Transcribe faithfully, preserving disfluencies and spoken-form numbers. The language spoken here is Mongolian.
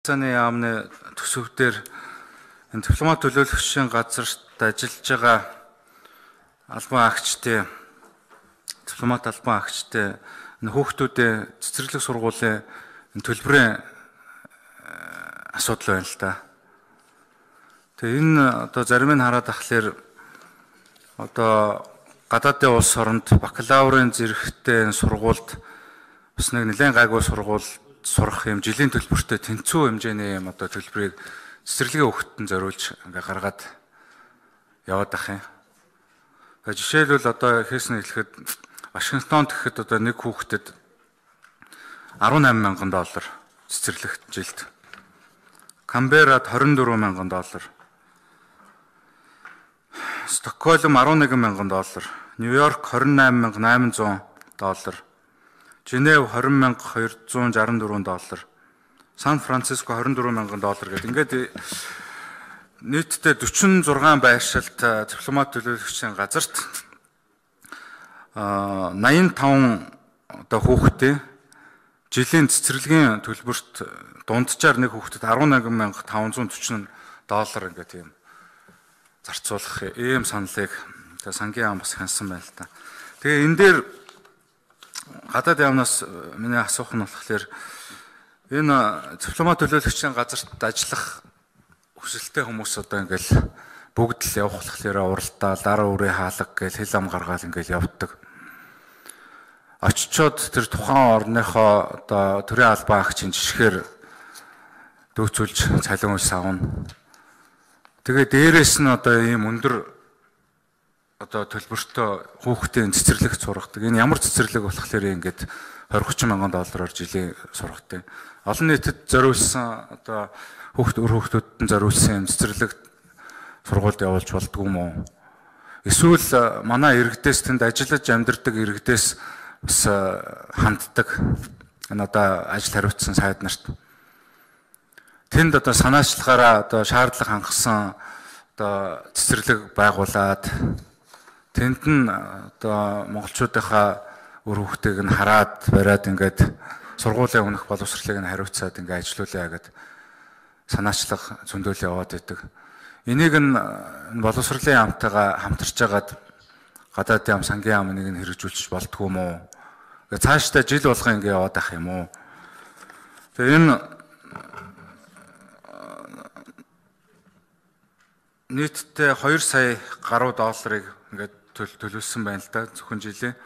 Цааны яамны төсөвдөр энэ дипломат төлөөлөгчийн газарт ажиллаж байгаа албан агчтай дипломат албан агчтай энэ хүүхдүүдийн цэцэрлэг сургуулийн төлбөрийн асуудал байна л да. Тэгээ энэ одоо зарим нь хараад ахлаар одоо гадаадын улс оронд бакалаврын зэрэгтэй сургуульд бас нэг нэлээд гайгүй сургууль сурах юм жилийн төлбөртэй тэнцүү хэмжээний юм одоо төлбөрийг цэцэрлэгийн хүүхдэд зориулж ингээ гаргаад яваад ах юм. Тэгээ жишээлбэл одоо хийсэн хэлэхэд Вашингтонд гэхэд одоо нэг хүүхдэд арван найман мянган доллар цэцэрлэгт жилд. Камберад хорин дөрвөн мянган доллар. Стокгольм арван нэгэн мянган доллар. Нью-Йорк хорин найман мянга найманзуун доллар. Женев хорин мянга хоёрзуун шаран дөрвөн доллар. Сан Франциско хорин дөрвөн мянган доллар гэдэг. Ингээд нийтдээ дөрвөн зургаан байршилт дипломат төлөөлөгчийн газарт найман таван одоо хүүхдээ жилийн цэцэрлэгийн төлбөрт дунджаар нэг хүүхдэд арван нэгэн мянга таван зуун төрчнө доллар ингээд юм зарцуулах ийм саналыг сангийн ам бас хянсан байна л та. Тэгээ энэ дээр гадаад яамнаас миний асуух нь болохоор энэ дипломат төлөөлөгчийн газарт ажиллах хүсэлтэй хүмүүс одоо ингээл бүгд л явах болохоор уралдаал, дараа үрээ хаалга гэж хэл ам гаргаал ингээл явдаг. Очичоод тэр тухайн орныхоо одоо төрийн албан агчийн жишгээр дүүцүүлж цалин ус авна. Тэгээ дээрээс нь одоо ийм өндөр одоо төлбөртөө хүүхдийн цэцэрлэгт сургадаг. Энэ ямар цэцэрлэг болохоор ингээд двадцать тридцать мянган доллараар жилийн сургадаг. Олон нийтэд зориулсан одоо хүүхд өр хүүхдүүдэд зориулсан цэцэрлэгт сургуульд явуулж болдгоо юм уу? Эсвэл манай иргэдээс тэнд ажиллаж амьдардаг иргэдээс бас ханддаг. Энэ одоо ажил хариуцсан сайд нарт. Тэнд одоо санаачлагаараа одоо шаардлага хангасан одоо цэцэрлэг байгуулад тэнд нь одоо монголчуудынхаа өр хүүхдийг нь хараад бариад ингээд сургуулийн өмнөх боловсролыг нь хариуцаад ингээд ажиллаулъя гэд санаачлах зөндөөл яваад байдаг. Энийг нь боловсролын яамтайгаа хамтарч агаад гадаад яам сангийн яам нэг нь хэрэгжүүлчих болдгоо юм уу? Гэ цаашдаа жил болгоо ингээд яваад ах юм уу? Тэгээ энэ нийтдээ хоёр сая гаруй долларыг ингээд төлөвлөсөн байна л да зөвхөн жилийн.